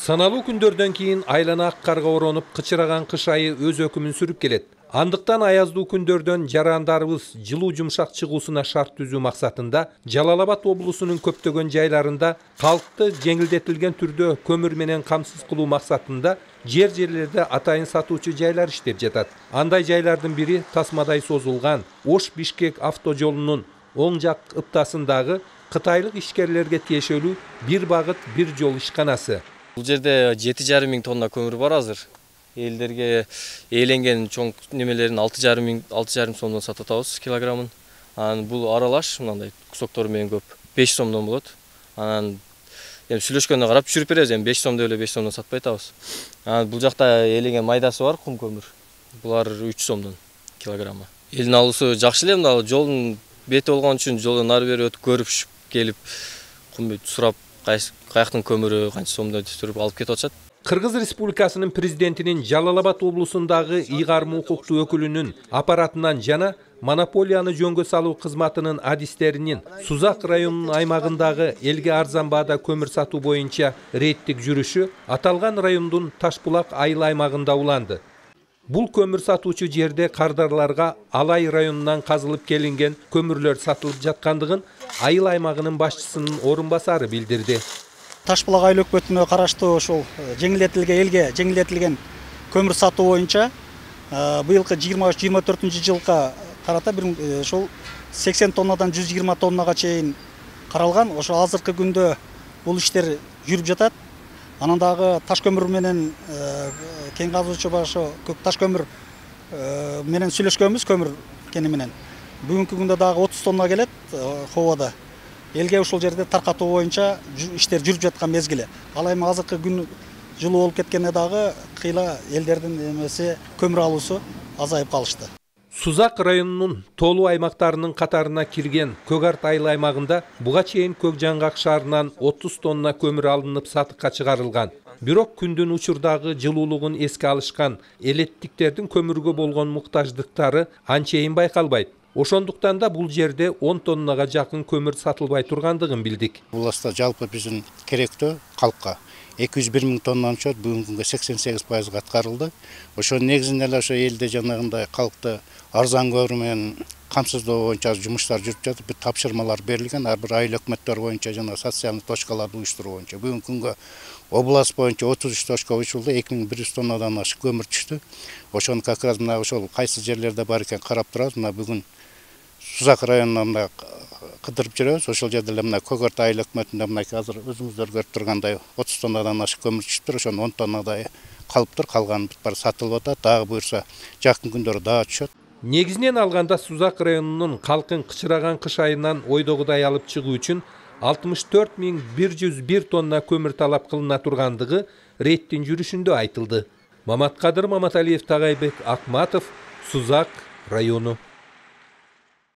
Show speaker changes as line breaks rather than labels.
Саналуу күндөрдөн кийин айлана ак карга оронуп, кычыраган кыш айы өз өкүмүн сүрүп келет. Андыктан аяздуу күндөрдөн жарандарыбыз жылуу жумшак чыгуусуна шарт түзүү максатында Жалал Абад облусунун көптөгөн жайларында калкты жеңилдетилген түрдө көмүр менен камсыз кылуу максатында жерлерде атайын сатуучу жайлар иштеп жатат. Андай жайлардын бири тасмадай созулган Ош-Бишкек автожолунун оң жак ыптасындагы кытайлык ишкерлерге тиешелүү бир багыт бир жол ишканасы.
Бул жерде 7,5 миң тонна көмүр бар азыр. Элдерге ээленген чоң немелерин 6,5 сомдон сатып атабыз килограммын. Анан бул аралаш мындай кусоктор менен көп 5 сомдон болот. Анан сүйлөшкөнгө карап түшүрүп беребиз, 5 сом деп эле 5 сомдон сатпай атабыз. Анан бул жакта ээленген майдасы бар, кум көмүр. Булар 3 сомдон килограммы. Элдин алуусу жакшы эле, мына жолдун бети болгон үчүн жолдон ары бери өтүп көрүп келип кум сурап каяктын көмүрү канча сомдо түшүрүп алып кетип атышат.
Кыргыз Республикасынын президентинин Жалал Абад облусундагы ыйгарым укуктуу өкүлүнүн аппаратынан жана монополияны жөнгө салуу кызматынын адистеринин Сузак районунун аймагындагы элге арзан баада көмүр сатуу боюнча рейдтик жүрүшү аталган райондун Ташбулак айыл аймагында уланды. Бул көмүр сатуучу жерде кардарларга Алай районунан казылып келинген көмүрлөр сатылып жаткандыгын айыл аймагынын башчысынын орун басары билдирди.
Ташбулак айыл өкмөтүнө караштуу ушул элге жеңилдетилген көмүр сатуу боюнча быйылкы 23-24 жылга карата ушул 80 тоннадан 120 тоннага чейин каралган. Ошо азыркы күндө бул иштер жүрүп жатат. Анан дагы таш көмүр менен кен казуучу башы көк таш көмүр менен сүйлөшкөнбүз, көмүр кени менен. Бүгүнкү күндө дагы 30 тонна келет хобода. Элге ушул жерде таркатуу боюнча иштер жүрүп жаткан мезгили. Ал эми азыркы күн жылуу болуп кеткенде дагы кыйла элдердин эмеси көмүр алуусу азайып калышты.
Сузак районунун Тоолуу аймактарынын катарына кирген Көгарт айыл аймагында буга чейин Көк Жаңгак шаарынан 30 тонна көмүр алынып сатыкка чыгарылган. Бирок күндүн учурдагы жылуулугун эске алышкан элеттиктердин көмүргө болгон муктаждыктары анчейин байкалбайт. Ошондуктан да бул жерде 10 тоннага жакын көмүр сатылбай тургандыгын билдик.
Уласта жалпы биздин керектөө калкка 201 миң тоннаны чөт бүгүнгү 88% аткарылды. Ошонун негизинде эле ошо элде жанагындай калкты арзан көмүр менен камсыздоо боюнча жумуштар жүрүп жатып, тапшырмалар берилген. Ар бир айыл өкмөттөр боюнча жана социалдык точкаларды уюштуруу боюнча бүгүнкү күнгө область боюнча 33 точка уюштурулду, 2100 тоннадан ашык көмүр түштү. Ошону как раз мына ошол кайсы жерлерде бар экен карап турабыз. Мына бүгүн Сузак районунда кыдырып жүрөбүз. Ошол жерде эле мына Көгарт айыл өкмөтүндө мынакей азыр өзүңүздөр көрүп тургандай 30 тоннадан ашык көмүр түшүптүр. Ошонун 10 тоннадай калыптыр, калганы бар сатылып атат. Дагы буюрса жакын күндөрү дагы түшөт.
Негизинен алганда Сузак районунун калкын кычыраган кыш айынан ойдогудай алып чыгуу үчүн 64.101 тонна көмүр талап кылына тургандыгы рейдтин жүрүшүндө айтылды. Маматкадыр Маматалиев, Тагайбек Акматов, Сузак району.